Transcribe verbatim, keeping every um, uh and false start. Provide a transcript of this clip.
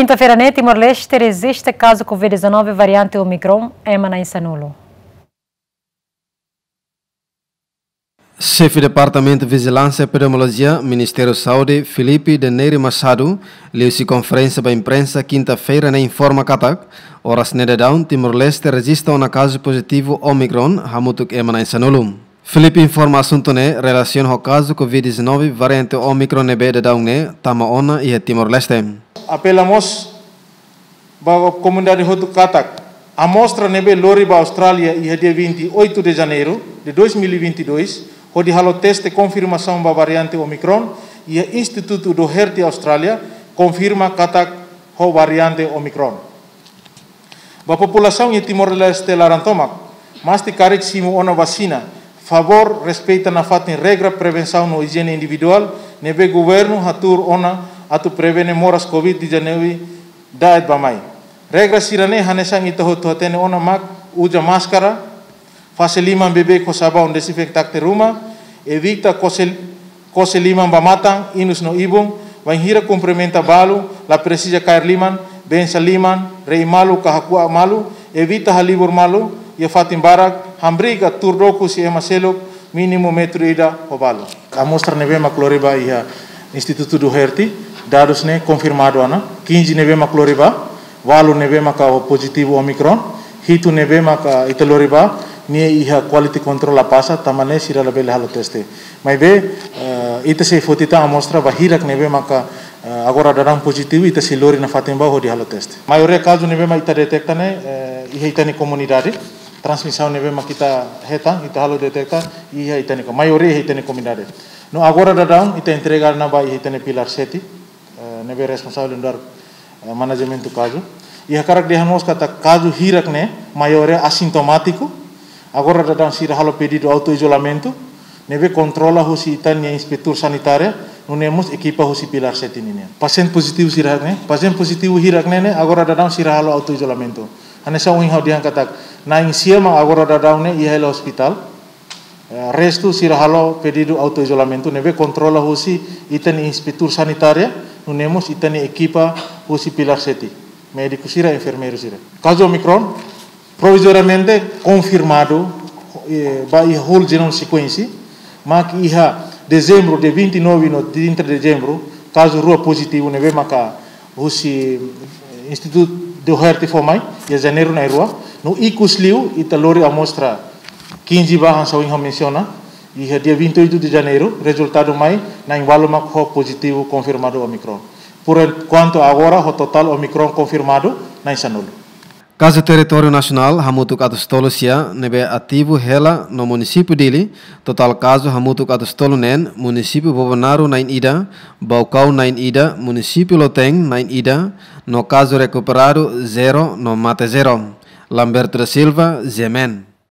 Kinta-feira ne'e, Timor-Leste rejista kazu Covid dezanove variante Omicron ema na'in sanulu. Xefe Departamentu Vijilánsia Epidemiolojia, Ministériu Saúde, Filipe de Neri Machado, liuhusi konferénsia ba imprensa kinta-feira ne'e informa katak, oras ne'e daudaun Timor-Leste rejista ona kazu pozitivu Omicron hamutuk ema na'in sanulu. Filipe informa asuntu ne'e relasiona ho kazu Covid dezanove variante Omicron ne'ebé daudaun ne'e tama ona iha Timor-Leste. Apela mós ba komunidade hotu katak, amostra ne'ebé lori ba Austrália iha dia vinte e oito de Janeiro de dois mil e vinte e dois, hodi halo teste konfirmasaun ba variante Omicron iha Institutu Doherty Austrália, konfirma katak ho variante Omicron. Ba populasaun iha Timor-Leste laran tomak, mós ita karik simu ona vasina, favór respeita nafatin regra prevensaun no ijiene individuál ne'ebé governu hatuur ona atu prevene moras Covid dezanove da'et ba mai. Regra sira-ne'e hanesan ita hotu hatene ona mak uza máskara, fase liman beibeik ho sabaun dezinfetante ruma, evita kose, kose liman ba matan, inus no ibun, bainhira kumprimenta balu, la presiza kaer liman, bensa liman, re'i malu ka hakuak malu, evita halibur malu iha fatin barak, hamriik ka tuur dook husi ema seluk, mínimu metru ida ho balu. Amostra ne'ebé mak lori ba iha Institutu Doherty, dadus ne'e konfirmadu ona, kinze ne'ebé mak lori ba, ualu ne'ebé maka ho pozitivu Omicron, hitu ne'ebé maka ita lori ba, nia iha quality control la pasa, tanba ne'e sira labele halo teste. Maibé, eh, ita sei foti tan amostra ba hirak ne'ebé maka, eh, agora daudaun pozitivu, ita sei lori nafatin ba hodi halo teste. Maioria kazu ne'ebé mak ita deteta ne'e, eh, iha ita-nia komunidade, transmisaun ne'ebé mak ita hetan, ita halo deteta, iha ita-nia ko-, maioria iha ita-nia komunidade. No agora daudaun, ita entrega ona ba iha ita-nia pilar sete, eh, ne'ebé responsavel nu'udar, eh, manajementu kazu. I hakarak dehan mós katak kazu hirak ne'e, maioria asintomátiku. Agora daudaun sira halo pedidu autoizolamentu, ne'ebé kontrola husi ita-nia inspetór sanitária, nune'e mós ekipa husi pilar sete ninian. Pasiente pozitivu sira ne'e, pasiente pozitivu hirak ne'e ne'e, agora daudaun sira halo autoizolamentu. Hanesan ohin ha'u dehan katak, na'in sia mak agora daudaun ne'e iha hela ospitál. Eh, restu sira halo pedidu autoizolamentu ne'ebé kontrola husi ita-nia inspetór sanitária, nune'e mós ita-nia ekipa husi pilar sete, médiku sira, enfermeiru sira. Kazu Omicron provizoriamente konfirmadu, eh, ba iha whole genome sequence, mak iha dezembru, dia vinte e nove no trinta de dezembro, kazu rua pozitivu ne'ebé maka husi, eh, Institutu Doherty fó mai, iha Janeiru na'in rua, no ikus liu ita lori amostra kinze ba hanesan ohin ha'u mensiona, iha dia vinte e oito de Janeiro, rezultadu mai na'in ualu mak ho pozitivu konfirmadu Omicron. Por enkuantu agora, ho totál Omicron konfirmadu, na'in sanulu. Kazu territóriu nasionál hamutuk atus tolu sia, ne'ebé ativu hela no munisípiu Dili, totál kazu hamutuk atus tolu neen, munisípiu Bobonaro na'in ida, Baucau na'in ida, munisípiu Loteng na'in ida, no kazu rekuperadu zero no mate zero. Lamberto da Silva, G M N.